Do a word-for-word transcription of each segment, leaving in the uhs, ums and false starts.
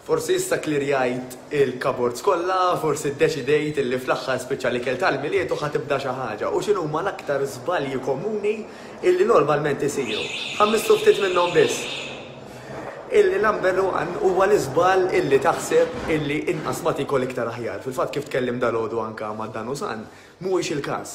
Forsi issa klirjajt il-cupboards kollha, forsi ddeċidejt illi fl-aħħar spiċċa l-ikel tal-Milied u ħa tibda xi ħaġa. U x'inhuma l-aktar żbalji komuni illi normalment isiru? Ħa mmissu ftit minnhom biss. Illi number one huwa l-iżball illi taħseb illi inqas ma tikol iktar aħjar. Fil-fatt, kif tkellim dalgħodu anka ma' Dan Usan, mhuwiex il-każ.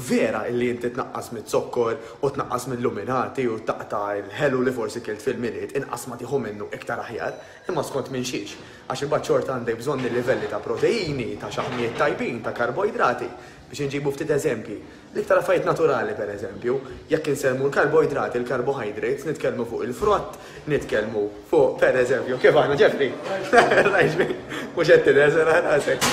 Vera illi inti tnaqqas mit-zokkor u tnaqqas mill-luminati u taqta' l-ħelu li forsi kilt fil-Milied, inqas ma tieħu minnu iktar aħjar, imma skont minn xiex. Għax imbagħad xorta għandek bżonn il-livelli ta' proteini, ta' xaħmijiet tajbin, ta' karboidrati. Biex inġibu ftit eżempji. L-iktar affarijiet naturali, per eżempju, jekk insemmu l-karboidrati, il-carbohydrates, nitkellmu fuq il-frott, nitkellmu fuq, per eżempju, kif aħna, Jeffrey? Rajxbi, mhux qed tidher rasek.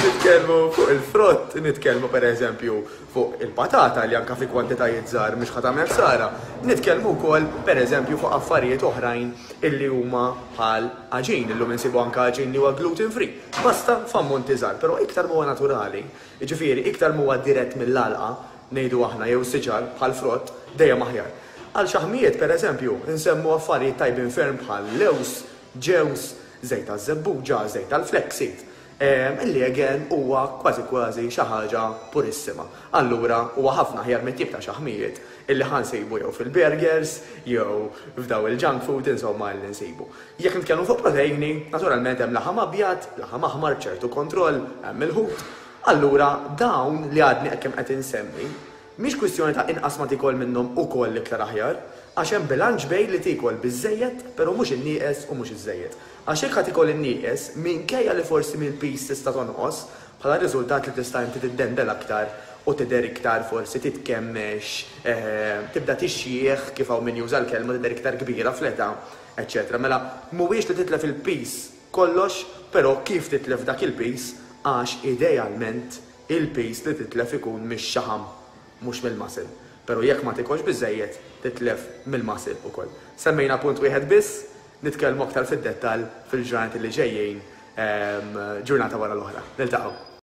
Nitkellmu fuq il-frott, nitkellmu per eżempju fuq il-patata li anka fi kwantitajiet żgħar mhux ħa tagħmel ħsara. Nitkellmu wkoll, per eżempju, fuq affarijiet oħrajn illi huma bħal għaġin, illum insibu anka għaġin li huwa gluten free. Basta f'ammonti żgħar, però iktar huwa naturali, jiġifieri iktar huwa dirett mill-għalqa, ngħidu aħna, jew siġar bħal frott, dejjem aħjar. Għal xaħmijiet, per eżempju, nsemmu affarijiet tajbin ferm bħal lewż, ġewż, żejt taż-żebbuġa, żejt tal-flaxseed. Illi again huwa kważi kważi xi ħaġa purissima. Allura huwa ħafna aħjar mit-tip ta' xaħmijiet illi ħa nsibu jew fil-burgers, jew f'daw il-junk food, insomma, li nsibu. Jekk nitkellmu fuq proteini, naturalment hemm laħam abjad, laħam aħmar, ċertu kontroll, hemm il-ħut. Allura dawn li għadni kemm qed insemmi, mhix kwistjoni ta' inqas ma tikol minnhom ukoll iktar aħjar, għax hemm bilanċ bejn li tikol biżejjed, però mhux in-nieqes u mhux iż-żejjed. Għax jekk ħa tikol in-nieqes, minkejja li forsi mill-piż tista' tonqos, bħala riżultat li tista' inti tiddendel aktar u tidher iktar forsi titkemmex, eh, tibda tixjieħ, kif hawn min juża l-kelma, tidher iktar kbira fl-età, eċċetera. Mela mhuwiex li titlef il-piż kollox, però kif titlef dak il-piż, għax idealment il-piż li titlef ikun mix-xaħam, mhux mill-muscle. Però jekk ma tikolx biżejjed, titlef mill-muscle ukoll. Semmejna punt wieħed biss, nitkellmu aktar fid-dettall fil-ġranet li ġejjin, ġurnata wara l-oħra. Niltaqgħu.